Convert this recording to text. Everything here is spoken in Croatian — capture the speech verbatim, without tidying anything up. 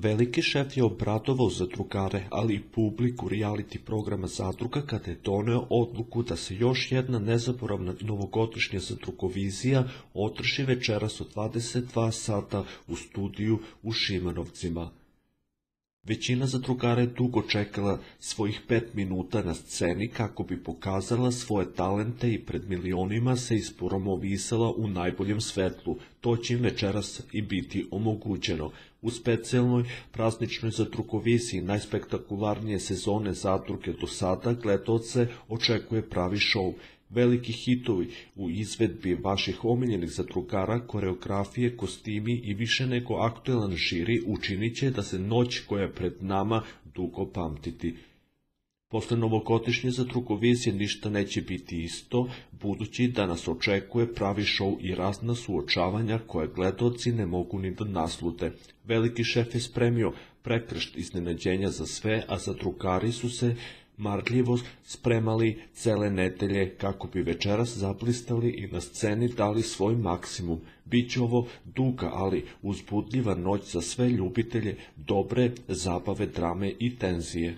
Veliki šef je obradovao zadrugare, ali i publiku reality programa Zadruga kada je doneo odluku da se još jedna nezaboravna novogodišnja zadrugovizija održi večeras od dvadeset dva sata u studiju u Šimanovcima. Većina zadrugara je dugo čekala svojih pet minuta na sceni kako bi pokazala svoje talente i pred milionima se ispromovisala u najboljem svetlu. To će im večeras i biti omogućeno. U specijalnoj prazničnoj zadrugoviziji najspektakularnije sezone Zadruge do sada gledaoce očekuje pravi šou. Veliki hitovi u izvedbi vaših omiljenih zadrugara, koreografije, kostimi i više nego aktuelan žiri učinit će da se noć koja je pred nama dugo pamtiti. Posle novogodišnje zadrugovizije ništa neće biti isto, budući da nas očekuje pravi šou i razna suočavanja koje gledaoci ne mogu ni da naslute. Veliki šef je spremio prekršt iznenađenja za sve, a zadrugari su se marljivo spremali cele nedelje kako bi večeras zablistali i na sceni dali svoj maksimum. Biće ovo duga, ali uzbudljiva noć za sve ljubitelje dobre zabave, drame i tenzije.